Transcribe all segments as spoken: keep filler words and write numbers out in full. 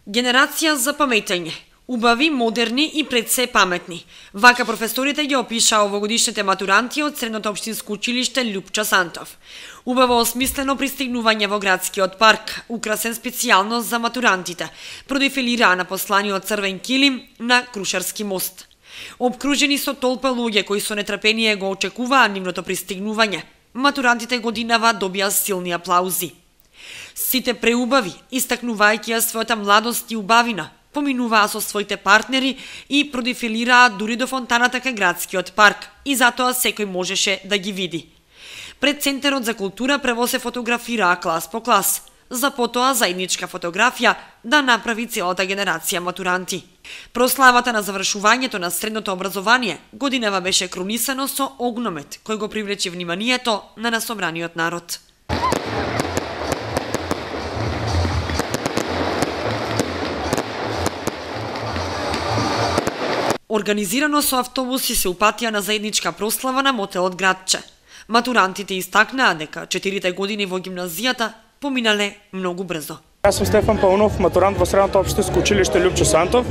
Генерација за паметење. Убави, модерни и пред се паметни. Вака професорите ги опишаа овогодишните матуранти од Средното општинско училиште Љупчо Сантов. Убаво осмислено пристигнување во градскиот парк, украсен специјално за матурантите, продефилираа на посланиот црвен килим на Крушарски мост. Обкружени со толпа луѓе кои со нетрпение го очекуваа нивното пристигнување, матурантите годинава добија силни аплаузи. Сите преубави, истакнувајќи ја својата младост и убавина, поминуваа со своите партнери и продефилираа дури до фонтаната кај градскиот парк, и затоа секој можеше да ги види. Пред Центарот за култура прво се фотографираа клас по клас, за потоа заедничка фотографија да направи целата генерација матуранти. Прославата на завршувањето на средното образование годинава беше крунисано со огномет, кој го привлече вниманието на насобраниот народ. Организирано со автобуси се упатија на заедничка прослава на мотелот Градче. Матурантите истакнаа дека четирите години во гимназијата поминале многу брзо. Јас сум Стефан Паунов, матурант во Средното општинско училиште Љупчо Сантов.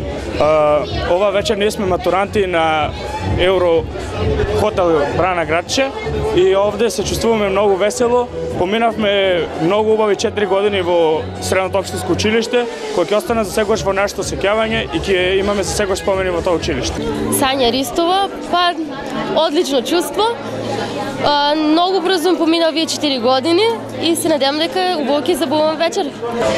Ова вечер ние сме матуранти на Евро хотел Брана Градче и овде се чувствуваме многу весело. Поминавме многу убави четири години во Средното општинско училиште, кои ќе остане за секогаш во нашето сеќавање и ќе имаме за секогаш спомени во тоа училиште. Сања Ристова, па одлично чувство. А, многу брзо помина овие четири години и се надевам дека убаво ќе забавам вечер.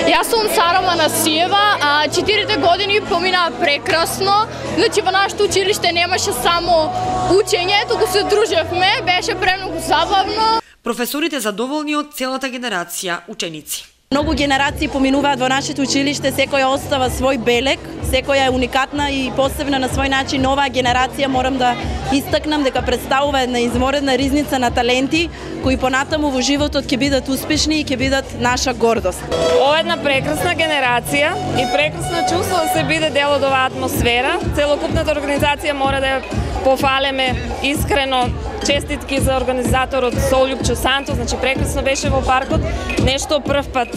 Јас сум Сара Манасиева, а четирите години помина прекрасно. Значи во нашето училиште немаше само учење, туку се дружевме, беше премногу забавно. Професорите задоволни од целата генерација ученици. Многу генерации поминуваат во нашето училиште, секоја остава свој белег, секоја е уникатна и посебна на свој начин. Оваа генерација морам да истакнам дека представува една изморедна ризница на таленти кои понатаму во животот ќе бидат успешни и ќе бидат наша гордост. Ова е една прекрасна генерација и прекрасно чувство да се биде дел од оваа атмосфера. Целокупната организација мора да ја пофалеме искрено. Честитки за организаторот со Љупчо Сантов, значи прекрасно беше во паркот, нешто прв пат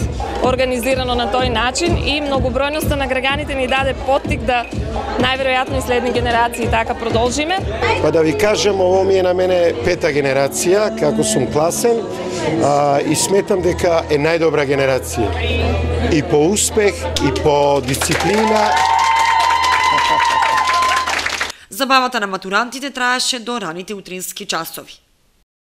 организирано на тој начин и многобројноста на граѓаните ни даде поттик да најверојатно и следни генерации така продолжиме. Па да ви кажам, ово ми е на мене пета генерација, како сум класен, а, и сметам дека е најдобра генерација. И по успех, и по дисциплина. Забавата на матурантите траеше до раните утрински часови.